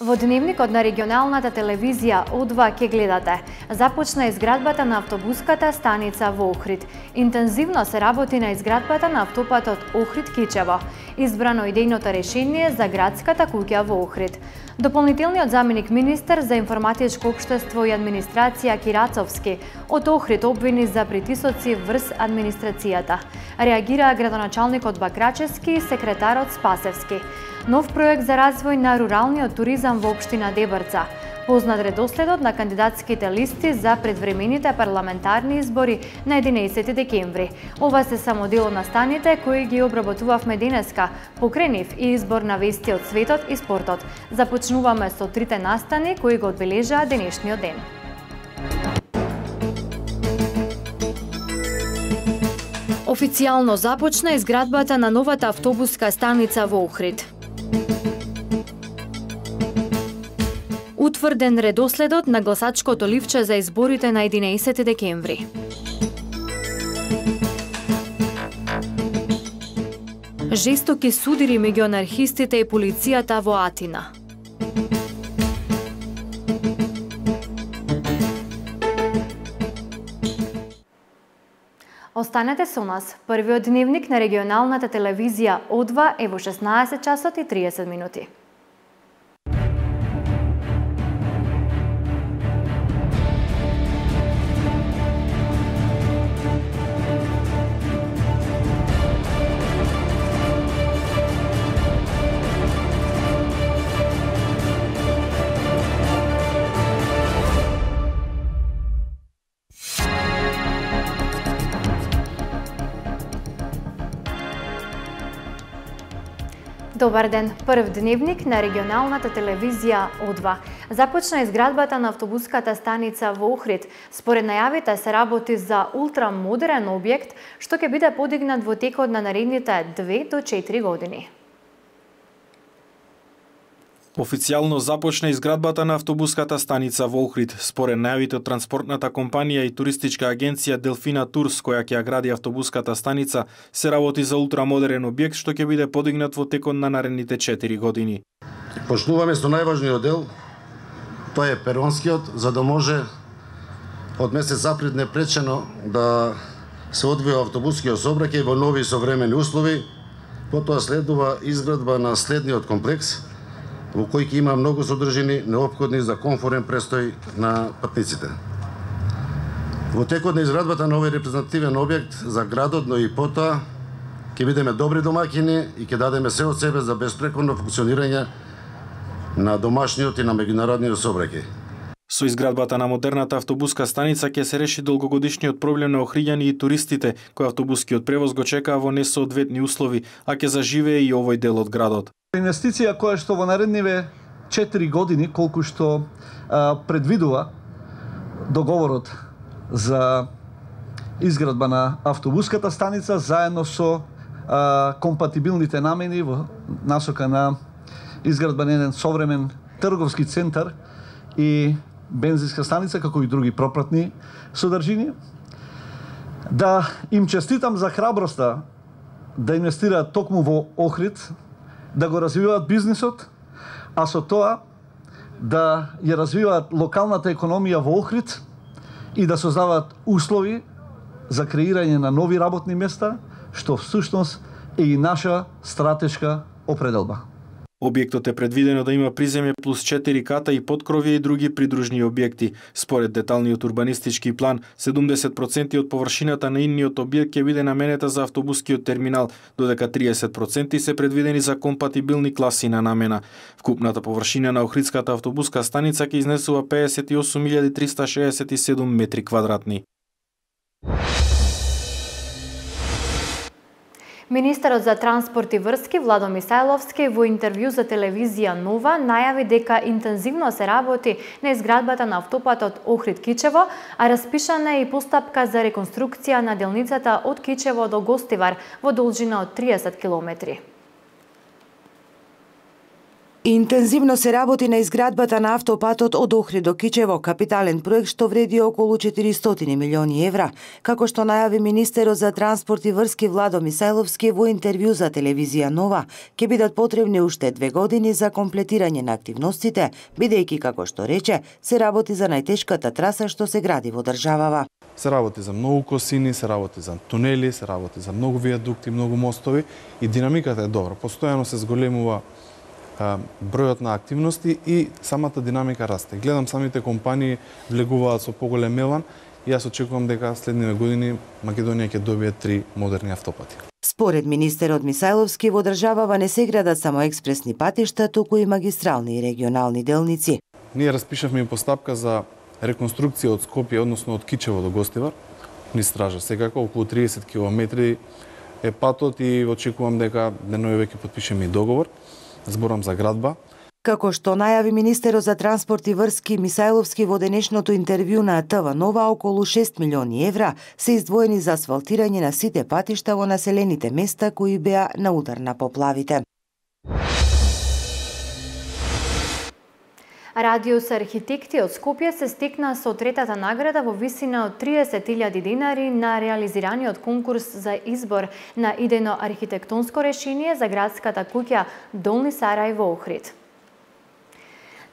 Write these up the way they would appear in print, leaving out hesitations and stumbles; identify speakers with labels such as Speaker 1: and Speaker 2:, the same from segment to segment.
Speaker 1: Во дневникот на регионалната телевизија О2 ке гледате. Започна изградбата на автобуската станица во Охрид. Интензивно се работи на изградбата на автопатот Охрид-Кичево. Избрано идејното решение за градската куќа во Охрид. Дополнителниот заменик министер за информатичко општество и администрација Кирацовски од Охрид обвини за притисоци врз администрацијата. Реагираа градоначалникот Бакрачевски и секретарот Спасевски. Нов проект за развој на руралниот туризам во општина Дебрца. Познат редоследот на кандидатските листи за предвремените парламентарни избори на 11 декември. Ова се само дел од настаните кои ги обработувавме денеска. Покрај нив и избор на вести од светот и спортот. Започнуваме со трите настани кои го одбележаа денешниот ден. Официјално започна изградбата на новата автобуска станица во Охрид. Утврден редоследот на гласачкото ливче за изборите на 11 декември. Жестоки судири меѓу анархистите и полицијата во Атина. Останете со нас. Првиот дневник на регионалната телевизија О2 е во 16 часот и 30 минути. Добар ден, прв дневник на регионалната телевизија О2. Започна изградбата на автобуската станица во Охрид. Според најавите се работи за ултрамодерен објект што ќе биде подигнат во текот на наредните 2 до 4 години.
Speaker 2: Официјално започна изградбата на автобуската станица во Охрид. Според најавите од транспортната компанија и туристичка агенција Делфина Турс, која ќе ја гради автобуската станица, се работи за ултрамодерен објект што ќе биде подигнат во текот на наредните 4 години.
Speaker 3: Почнуваме со најважниот дел, тоа е перонскиот, за да може од месец април непречено да се одвива автобускиот сообраќај во нови современи услови. Потоа следува изградба на следниот комплекс, во кој ќе има многу содржини неопходни за комфорен престој на патниците. Во текот на изградбата на овој репрезентативен објект за градот, но и потоа ќе бидеме добри домаќини и ќе дадеме се од себе за беспрекорно функционирање на домашниот и на меѓународниот сообраќај.
Speaker 2: Со изградбата на модерната автобуска станица ќе се реши долгогодишниот проблем на охриѓани и туристите, кои автобускиот превоз го чекаа во несоодветни услови, а ќе заживее и овој дел од градот.
Speaker 4: Инвестиција која што во наредниве 4 години, колку што предвидува договорот за изградба на автобуската станица, заедно со компатибилните намени во насока на изградба на еден современ трговски центар и бензинска станица, како и други пропратни содржини. Да им честитам за храброста да инвестираат токму во Охрид, да го развиваат бизнисот, а со тоа да ја развиваат локалната економија во Охрид и да создаваат услови за креирање на нови работни места, што всушност е и наша стратешка определба.
Speaker 2: Објектот е предвидено да има приземје плюс 4 ката и поткровје и други придружни објекти. Според деталниот урбанистички план, 70% од површината на идниот објект ќе биде наменета за автобускиот терминал, додека 30% се предвидени за компатибилни класи на намена. Вкупната површина на Охридската автобуска станица ќе изнесува 58.367 метри квадратни.
Speaker 1: Министерот за транспорт и врски Владо Мисајловски во интервју за телевизија Нова најави дека интензивно се работи на изградбата на автопатот Охрид-Кичево, а распишана е и постапка за реконструкција на делницата од Кичево до Гостивар во должина од 30 километри.
Speaker 5: Интензивно се работи на изградбата на автопатот од Охрид до Кичево, капитален проект што вреди околу 400 милиони евра. Како што најави министерот за транспорт и врски Владо Мисајловски во интервју за телевизија Нова, ќе бидат потребни уште 2 години за комплетирање на активностите, бидејќи, како што рече, се работи за најтешката траса што се гради во државава.
Speaker 6: Се работи за многу косини, се работи за тунели, се работи за многу виадукти, многу мостови и динамиката е добра. Постојано се зголемува бројот на активности и самата динамика расте. Гледам самите компании влегуваат со поголем елан и јас очекувам дека следниве години Македонија ќе добие 3 модерни автопати.
Speaker 5: Според министерот Мисајловски, во државава не се градат само експресни патишта, туку и магистрални и регионални делници.
Speaker 6: Ние распишавме и постапка за реконструкција од Скопје, односно од Кичево до Гостивар, низ стража. Секако околу 30 километри е патот и очекувам дека денојуве ќе потпишеме и договор. Зборам за градба.
Speaker 5: Како што најави министерот за транспорт и врски Мисајловски во денешното интервју на ТВ Нова, околу 6 милиони евра се издвоени за асфалтирање на сите патишта во населените места кои беа на удар на поплавите.
Speaker 1: Радиус архитекти од Скопје се стекна со третата награда во висина од 30.000 динари на реализираниот конкурс за избор на идејно архитектонско решение за градската куќа Долни Сарај во Охрид.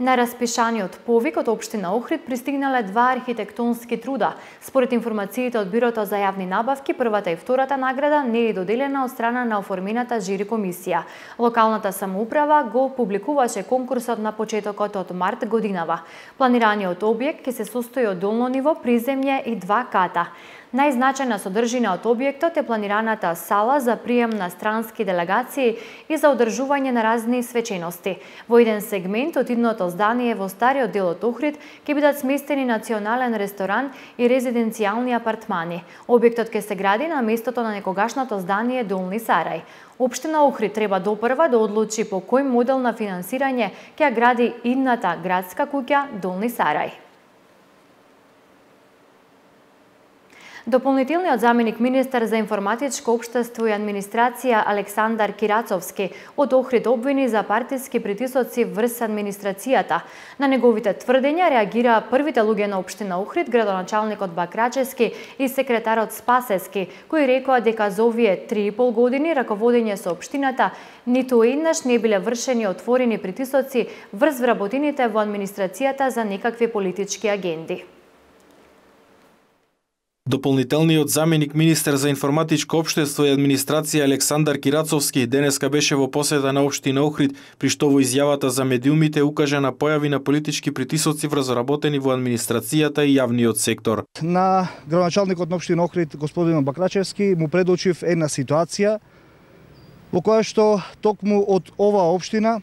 Speaker 1: На распишаниот повик од општина Охрид пристигнале 2 архитектонски труда. Според информациите од Бирото за јавни набавки, првата и втората награда не е доделена од страна на оформената жири комисија. Локалната самоуправа го публикуваше конкурсот на почетокот од март годинава. Планираниот објект ќе се состои од долно ниво, приземје и 2 ката. Најзначајна содржина од објектот е планираната сала за прием на странски делегации и за одржување на разни свечености. Во еден сегмент од идното здание во стариот дел од Охрид ќе бидат сместени национален ресторан и резиденцијални апартмани. Објектот ќе се гради на местото на некогашното здание Долни Сарај. Општина Охрид треба допрва да одлучи по кој модел на финансирање ќе гради идната градска куќа Долни Сарај. Дополнителниот заменик министер за информатичко општество и администрација Александар Кирацовски од Охрид обвини за партиски притисоци врз администрацијата. На неговите тврдења реагираа првите луѓе на општина Охрид, градоначалникот Бакрачевски и секретарот Спасески, кои рекоа дека за овие 3,5 години раководење со општината ниту еднаш не биле вршени отворени притисоци врз вработените во администрацијата за некакви политички агенди.
Speaker 2: Дополнителниот заменик министер за информатичко општество и администрација Александар Кирацовски денеска беше во посета на општина Охрид, при што во изјавата за медиумите укажа на појави на политички притисоци врз работени во администрацијата и јавниот сектор.
Speaker 7: На градоначалникот на општина Охрид, господин Бакрачевски, му предочив една ситуација во која што токму од оваа општина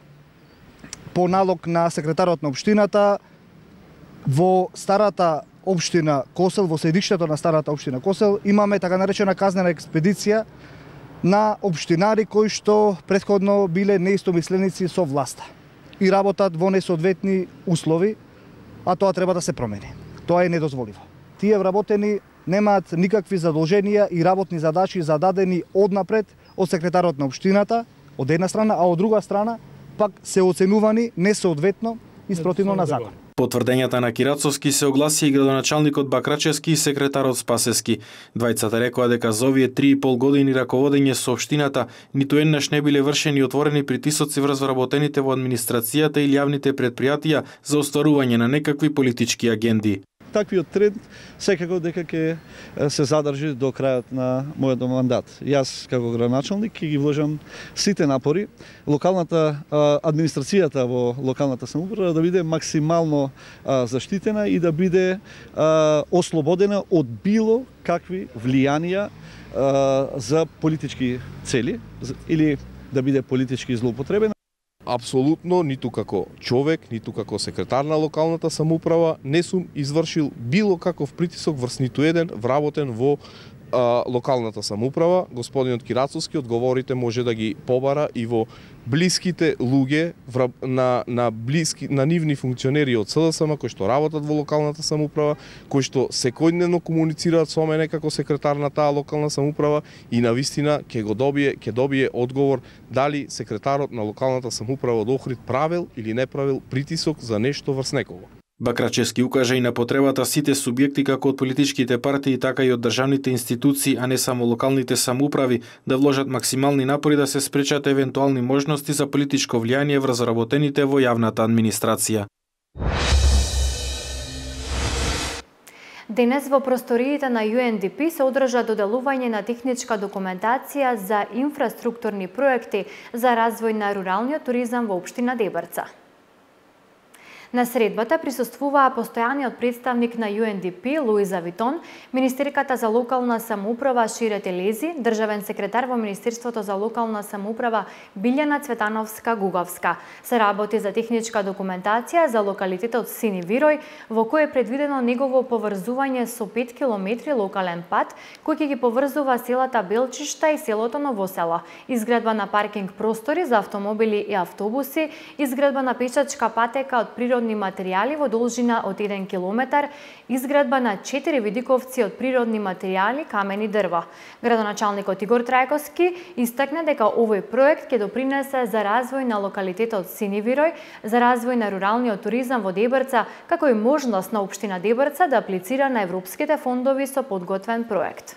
Speaker 7: по налог на секретарот на општината во старата општина Косел, во седиштето на старата општина Косел, имаме така наречена казнена експедиција на општинари кои што претходно биле неистомисленици со власта и работат во несоодветни услови, а тоа треба да се промени. Тоа е недозволиво. Тие вработени немаат никакви задолженија и работни задачи зададени однапред од секретарот на општината, од една страна, а од друга страна пак се оценувани несоодветно и спротивно на закон.
Speaker 2: По тврдењата на Кирацовски се огласи и градоначалникот Бакрачевски и секретарот Спасески. Двајцата рекоа дека за овие 3,5 години раководење со општината ниту еднаш не биле вршени отворени притисоци врз вработените во администрацијата или јавните предпријатија за остварување на некакви политички агенди.
Speaker 4: Таквиот тренд секако дека ќе се задржи до крајот на мојот мандат. Јас како градоначалник ќе ги вложам сите напори локалната администрацијата во локалната самоуправа да биде максимално заштитена и да биде ослободена од било какви влијанија за политички цели или да биде политички злоупотребена.
Speaker 8: Апсолутно, ниту како човек, ниту како секретар на локалната самоуправа не сум извршил било каков притисок врз ниту еден вработен во локалната самоуправа, господинот Кирацовски одговорите може да ги побара и во блиските луѓе на нивни функционери од СДСМ кои што работат во локалната самоуправа, кои што секојдневно комуницираат со мене како секретар на таа локална самоуправа и навистина ќе добие одговор дали секретарот на локалната самоуправа од Охрид правил или не правил притисок за нешто врз некого.
Speaker 2: Бакрачевски укажа и на потребата сите субјекти како од политичките партии, така и од државните институции, а не само локалните самоуправи, да вложат максимални напори да се спречат евентуални можности за политичко влијание врз работените во јавната администрација.
Speaker 1: Денес во просториите на UNDP се одржа доделување на техничка документација за инфраструктурни проекти за развој на руралниот туризам во општина Дебрца. На средбата присуствуваа постојаниот представник на UNDP Луиза Витон, министерката за локална самоуправа Шире Телези, државен секретар во Министерството за локална самоуправа Билјана Цветановска-Гуговска. Се работи за техничка документација за локалитетот Сини Вирој, во кој е предвидено негово поврзување со 5 километри локален пат, кој ќе ги поврзува селата Белчишта и селото Новосело, изградба на паркинг простори за автомобили и автобуси, изградба на пешачка патека од природни материјали во должина од 1 километар, изградба на 4 видиковци од природни материјали, камен и дрво. Градоначалникот Игор Трајковски истакна дека овој проект ќе допринесе за развој на локалитетот Сини Вирој, за развој на руралниот туризам во Дебрца, како и можност на општина Дебрца да аплицира на европските фондови со подготвен проект.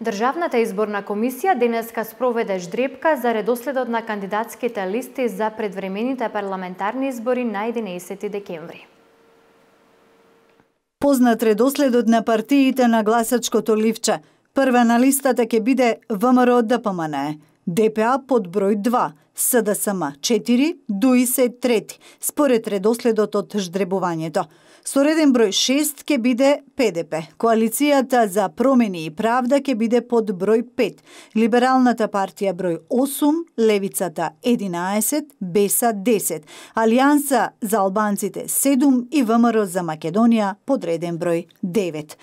Speaker 1: Државната изборна комисија денеска спроведе ждрепка за редоследот на кандидатските листи за предвремените парламентарни избори на 11 декември.
Speaker 9: Познат редоследот на партиите на гласачкото ливче. Прва на листата ќе биде ВМРО ДПМН, ДПА под број 2, СДСМ 4, ДУИ се 3, според редоследот од ждребувањето. Со реден број 6 ќе биде ПДП. Коалицијата за промени и правда ќе биде под број 5. Либералната партија број 8, Левицата 11, БЕСА 10, Алијанса за албанците 7 и ВМРО за Македонија под реден број 9.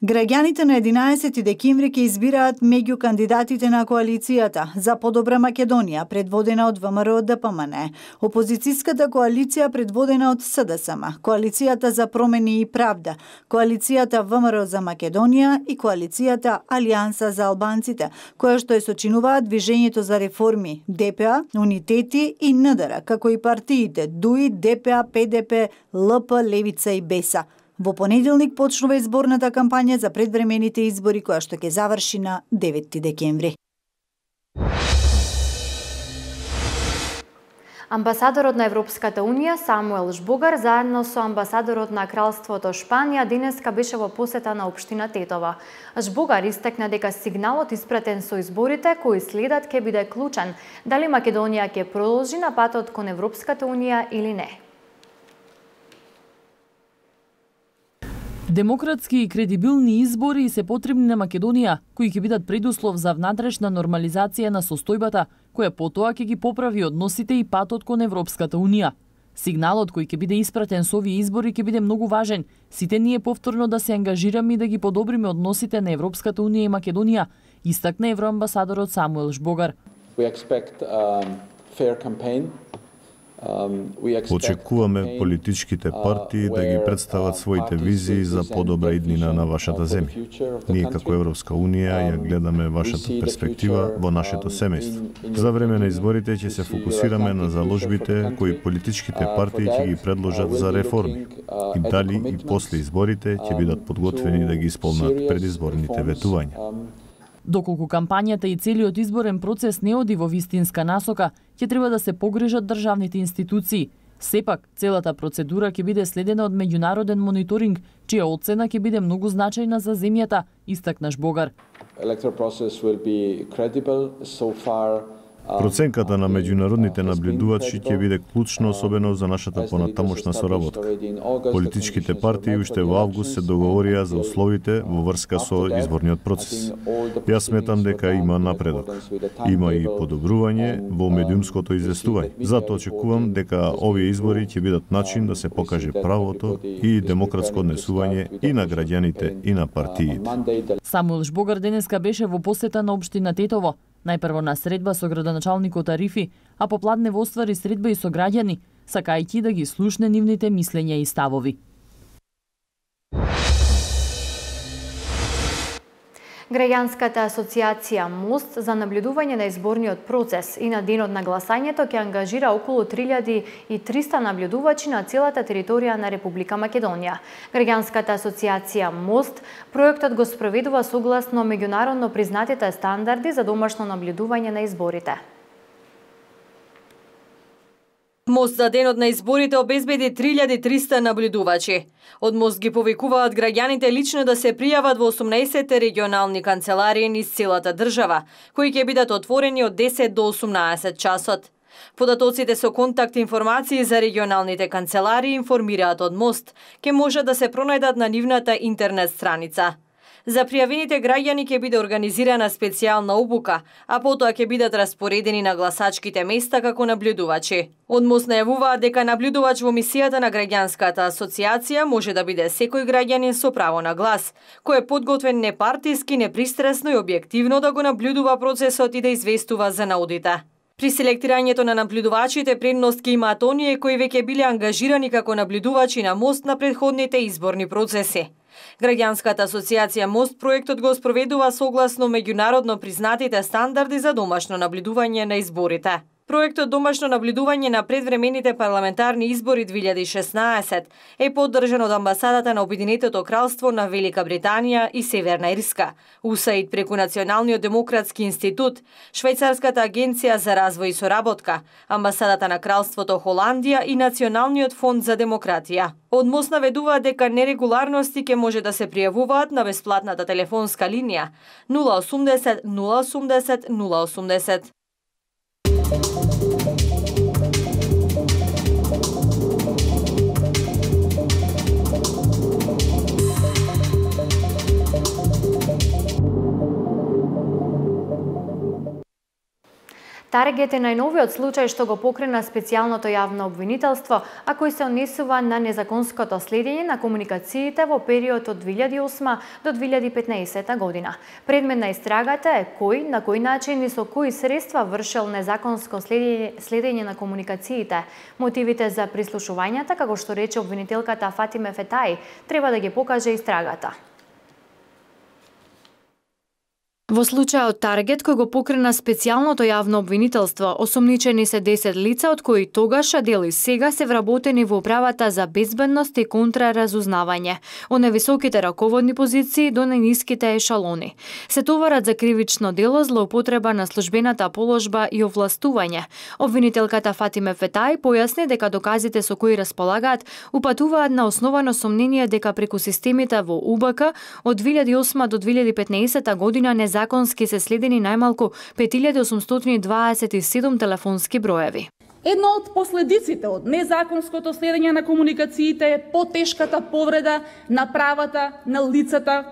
Speaker 9: Граѓаните на 11 декември ќе избираат меѓу кандидатите на коалицијата за подобра Македонија, предводена од ВМРО ДПМН, опозицијската коалиција предводена од СДСМ, коалицијата за промени и правда, коалицијата ВМРО за Македонија и коалицијата Алијанса за албанците, која што е сочинуваат Движењето за реформи, ДПА, Унитети и НДР, како и партиите ДУИ, ДПА, ПДП, ЛП, Левица и БЕСА. Во понеделник почнува изборната кампања за предвремените избори, која што ќе заврши на 9 декември.
Speaker 1: Амбасадорот на Европската Унија Самуел Жбогар заедно со амбасадорот на Кралството Шпанија денеска беше во посета на општина Тетова. Жбогар истакна дека сигналот испратен со изборите кои следат ќе биде клучен дали Македонија ќе продолжи на патот кон Европската Унија или не.
Speaker 10: Демократски и кредибилни избори се потребни на Македонија, кои ќе бидат предуслов за внатрешна нормализација на состојбата, која потоа ќе ги поправи односите и патот кон Европската Унија. Сигналот кој ќе биде испратен со овие избори ќе биде многу важен. Сите ние повторно да се ангажираме и да ги подобриме односите на Европската Унија и Македонија, истакна евроамбасадорот Самуел Жбогар.
Speaker 11: Очекуваме политичките партии да ги представат своите визии за подобра иднина на вашата земја. Ние како Европска Унија ја гледаме вашата перспектива во нашето семејство. За време на изборите ќе се фокусираме на заложбите кои политичките партии ќе ги предложат за реформи и дали и после изборите ќе бидат подготвени да ги исполнат предизборните ветувања.
Speaker 10: Доколку кампањата и целиот изборен процес не оди во вистинска насока, ќе треба да се погрижат државните институции. Сепак, целата процедура ќе биде следена од меѓународен мониторинг, чија оцена ќе биде многу значајна за земјата, истакна Жбогар.
Speaker 11: Проценката на меѓународните наблюдувачи ќе биде клучно, особено за нашата понатамошна соработка. Политичките партии уште во август се договорија за условите во врска со изборниот процес. Јас сметам дека има напредок. Има и подобрување во медиумското известување. Затоа очекувам дека овие избори ќе бидат начин да се покаже правото и демократско однесување и на граѓаните и на партиите.
Speaker 10: Самуил Жбогар денеска беше во посета на општина Тетово. Најпрво на средба со градоначалникот Арифи, а попладнево оствари средба и со граѓани, сакајќи да ги слушне нивните мислења и ставови.
Speaker 1: Граѓанската асоциација МОСТ за наблюдување на изборниот процес и на денот на гласањето ќе ангажира околу 3300 наблюдувачи на целата територија на Република Македонија. Граѓанската асоциација МОСТ проектот го спроведува согласно меѓународно признатите стандарди за домашно наблюдување на изборите.
Speaker 12: МОСТ за денот на изборите обезбеди 3300 наблюдувачи. Од МОСТ ги повикуваат граѓаните лично да се пријават во 18 регионални канцеларии низ целата држава, кои ќе бидат отворени од 10 до 18 часот. Податоците со контакт информации за регионалните канцеларии информираат од МОСТ, ќе може да се пронајдат на нивната интернет страница. За пријавените граѓани ќе биде организирана специјална обука, а потоа ќе бидат распоредени на гласачките места како наблюдувачи. Од МОСТ најавуваат дека наблюдувач во мисијата на граѓанската асоциација може да биде секој граѓанин со право на глас, кој е подготвен непартиски, непристрасно и објективно да го наблюдува процесот и да известува за наудите. При селектирањето на наблюдувачите предност ќе имаат оние кои веќе биле ангажирани како наблюдувачи на МОСТ на претходните изборни процеси. Граѓанската асоциација МОСТ проектот го спроведува согласно меѓународно признатите стандарди за домашно наблюдување на изборите. Проектот домашно наблюдување на предвремените парламентарни избори 2016 е поддржан од амбасадата на Обединетото кралство на Велика Британија и Северна Ирска, УСАИД преку Националниот демократски институт, Швајцарската агенција за развој и соработка, амбасадата на Кралството Холандија и Националниот фонд за демократија. Од МОСТ наведуваат дека нерегуларности ќе може да се пријавуваат на бесплатната телефонска линија 080 080 080.
Speaker 1: Таргет е најновиот случај што го покрена специјалното јавно обвинителство, а кој се однесува на незаконското следење на комуникациите во период од 2008 до 2015 година. Предмет на истрагата е кој, на кој начин и со кои средства вршел незаконско следење на комуникациите. Мотивите за прислушувањата, како што рече обвинителката Фатиме Фетаи, треба да ги покаже истрагата. Во случајот Таргет, кој го покрена специјалното јавно обвинителство, осомничени се 10 лица, од кои тогаш, а дел и сега се вработени во управата за безбедност и контраразузнавање, од највисоките раководни позиции до најниските ешалони. Се товарат за кривично дело злоупотреба на службената положба и овластување. Обвинителката Фатиме Фетаи појасни дека доказите со кои располагаат упатуваат на основано сомнение дека преку системите во УБК од 2008 до 2015 година незаконски се следени најмалку 5827 телефонски броеви.
Speaker 13: Едно од последиците од незаконското следење на комуникациите е потешката повреда на правата на лицата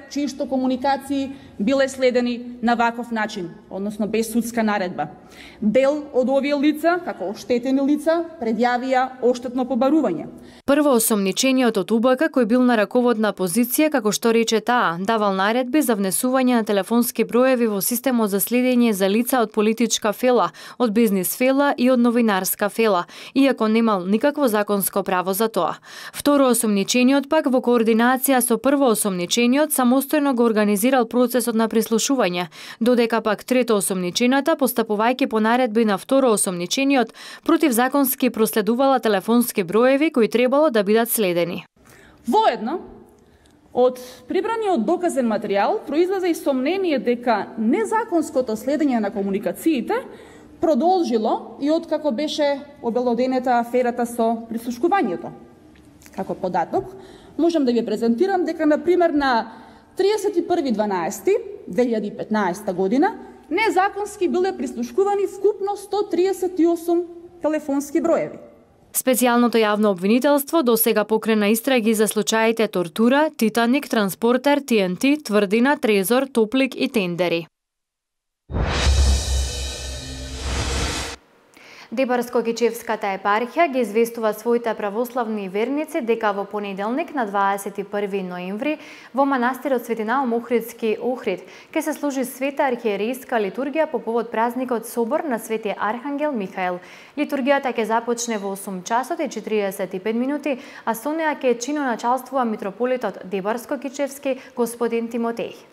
Speaker 13: чии што комуникации биле следени на ваков начин, односно без судска наредба. Дел од овие лица, како оштетени лица, предјавија оштетно побарување.
Speaker 1: Прво осомничениот од УБК, кој бил на раководна позиција, како што рече таа, давал наредби за внесување на телефонски броеви во системот за следење за лица од политичка фела, од бизнис фела и од новинарска фела, иако немал никакво законско право за тоа. Второ осомничениот пак во координација со прво осомничениот самостојно го организирал процесот на прислушување, додека пак трето осомничената, постапувајќи по наредби на второ осомничениот, противзаконски проследувала телефонски броеви кои требало да бидат следени.
Speaker 13: Воедно, од прибраниот доказен материјал произлезе и сомнение дека незаконското следење на комуникациите продолжило и откако беше обелоденета аферата со прислушкувањето. Како податок, можам да ви презентирам дека, например, на 31.12.2015 година незаконски биле прислушкувани вкупно 138 телефонски броеви.
Speaker 1: Специјалното јавно обвинителство досега покрена истраги за случаите тортура, Титаник, Транспортер, ТНТ, Тврдина, Трезор, Топлик и Тендери. Дебарско-Кичевската епархија ги известува своите православни верници дека во понеделник на 21 ноември во манастирот Свети Наум Охридски Охрид ќе се служи света архиерейска литургија по повод празникот Собор на Свети Архангел Михаел. Литургијата ќе започне во 8 часот и 45 минути, а со неа ќе чиноначалствува митрополитот Дебарско-Кичевски господин Тимотеј.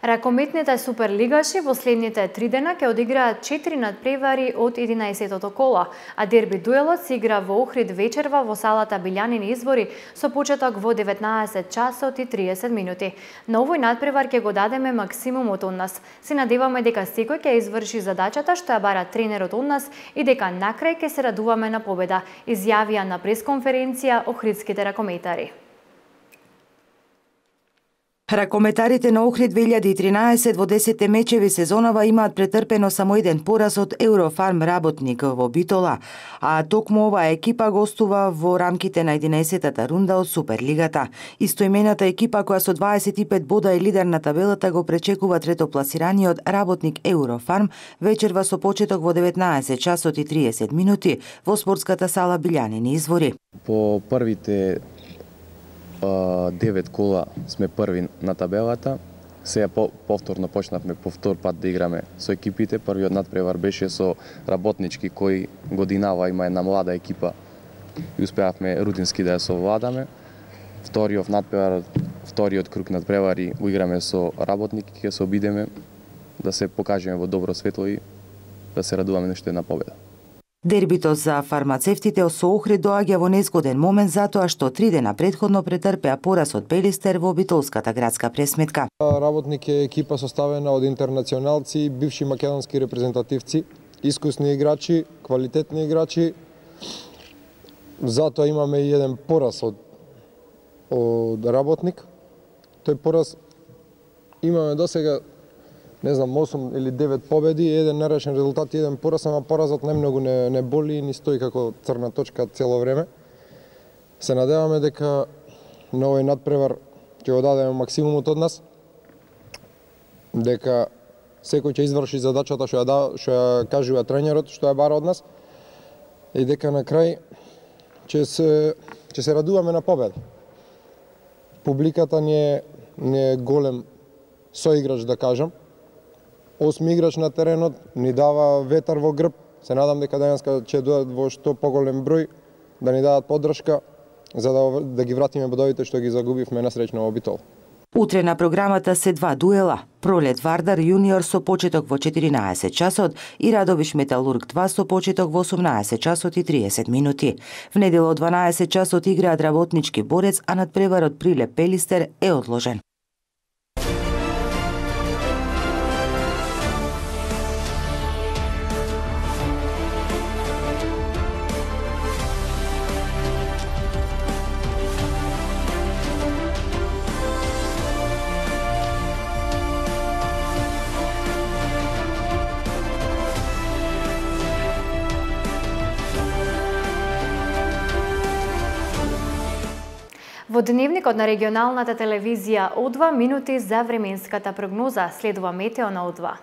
Speaker 1: Ракометните суперлигаши во следните 3 дена ќе одиграат 4 надпревари од 11-тото коло, а дерби дуелот се игра во Охрид вечерва во салата Билјанини избори со почеток во 19 часот и 30 минути. На овој надпревар ќе го дадеме максимумот од нас. Се надеваме дека секој ќе изврши задачата што ја бара тренерот од нас и дека накрај ќе се радуваме на победа, изјавија на пресконференција охридските ракометари.
Speaker 5: Ракометарите на Охрид 2013 во 10 мечеви сезонава имаат претрпено само еден пораз од Еврофарм работник во Битола, а токму оваа екипа гостува во рамките на 11-та рунда од Суперлигата. Истоимената екипа која со 25 бода е лидер на табелата го пречекува третопласираниот работник Еврофарм вечерва со почеток во 19 часот и 30 минути во спортската сала Билјанини извори.
Speaker 14: По првите 9 кола сме први на табелата. Сега повторно почнавме по втор пат да играме со екипите. Првиот надпревар беше со работнички кој годинава има една млада екипа и успеавме рутински да ја совладаме. Вториот надпревар, вториот круг надпревари го играме со работники, ќе се обидеме да се покажеме во добро светло и да се радуваме нешто една победа.
Speaker 5: Дербито за фармацевтите со Охрид доаѓа во незгоден момент затоа што 3 дена претходно претрпеа пораз од Пелистер во битолската градска пресметка.
Speaker 15: Работник е екипа составена од интернационалци, бивши македонски репрезентативци, искусни играчи, квалитетни играчи. Затоа имаме и еден пораз од работник. Тој пораз имаме досега 8 или 9 победи, еден нерешен резултат и еден пораз, ама поразот немногу не боли и ни стои како црна точка цело време. Се надеваме дека на овој надпревар ќе го дадеме максимумот од нас, дека секој ќе изврши задачата што ја кажува тренерот, што ја бара од нас и дека на крај ќе се радуваме на победа. Публиката не е голем соиграч, да кажам. 8 играч на теренот ни дава ветар во грб. Се надам дека денеска ќе дојдат во што поголем број да ни дадат поддршка за да ги вратиме бодовите што ги загубивме несреќно во Битол.
Speaker 5: Утре на програмата се 2 дуела. Пролет Вардар јуниор со почеток во 14 часот и Радовиш Металург 2 со почеток во 18 часот и 30 минути. В недела од 12 часот играат Работнички Борец, а надпреварот Прилеп Пелистер е одложен.
Speaker 1: Во дневникот на регионалната телевизија О2 минути за временската прогноза, следува метео на О2.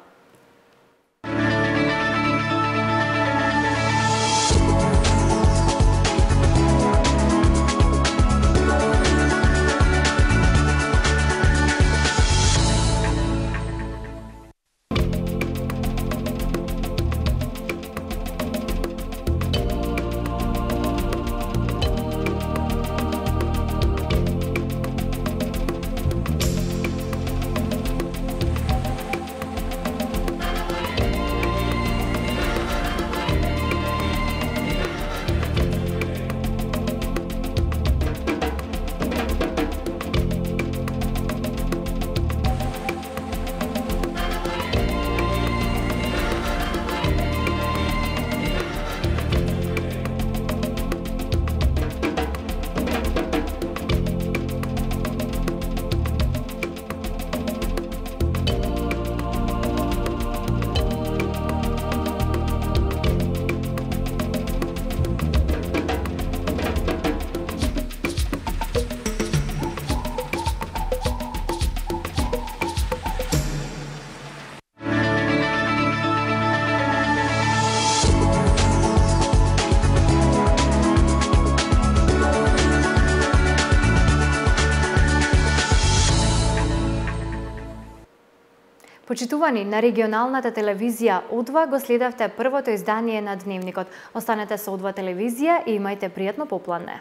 Speaker 1: Почитувани, на регионалната телевизија О2 го следавте првото издание на Дневникот. Останете со О2 телевизија и имајте пријатно попладне.